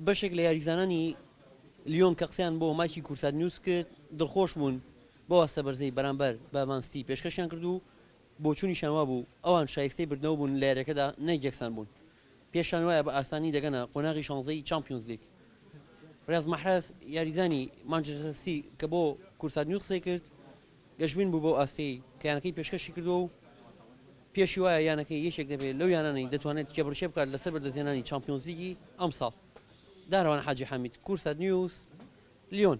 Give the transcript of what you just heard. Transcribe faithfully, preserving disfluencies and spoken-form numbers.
بەشێک لە یاریزانانی لیۆن کە قسەیان بۆ مایکی کوردسات نیوز کرد، دڵخۆش بوون بەو ئاستە بەرزەی بەرامبەر بە مان سیتی پێشکەشیان کرد و بۆچوونیشیان وابوو ئەوان شایستەی بردنەوە بوون لە یاریەکەدا نەک یەکسان بوون. پێشیان وایە بە ئاسانی دەگەنە قۆناغی شانزەی چامپیۆنزلیگ. ڕیاز مەحرەز یاریزانی مانچستەر سیتی کە بۆ کوردسات نیوز قسەی کرد، گەشبین بوو بەو ئاستەی کە یانەکەی پێشکەشی کردووە و پێشی وایە یانەکەی یەکێک دەبێت لەو یانانەی دەتوانێت کێبڕکێ بکات لەسەر بەدەستهێنانی چامپیۆنزلیگی ئەمساڵ. دارەوان حاجی حامید، کوردسات نیوز، لیۆن.